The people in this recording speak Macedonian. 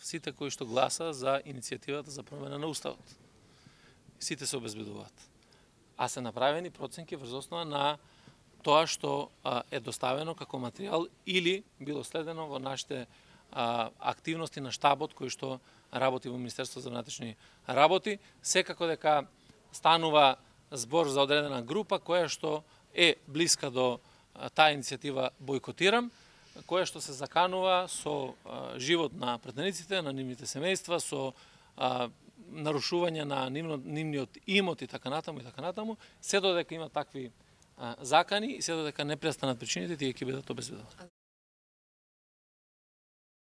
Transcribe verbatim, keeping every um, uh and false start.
сите кои што гласа за иницијативата за промена на уставот. Сите се обезбедуваат. А се направени проценки врз основа на тоа што а, е доставено како материјал или било следено во нашите а, активности на штабот кој што работи во Министерство за внатрешни работи, секако дека станува збор за одредена група која што е блиска до а, таа иницијатива бойкотирам, која што се заканува со а, живот на пратениците, на нивните семејства, со а, нарушување на нивно, нивниот имот и така натаму и така натаму, се додека има такви а, закани и се додека не престанат причините, тие ќе бидат обезбедувани.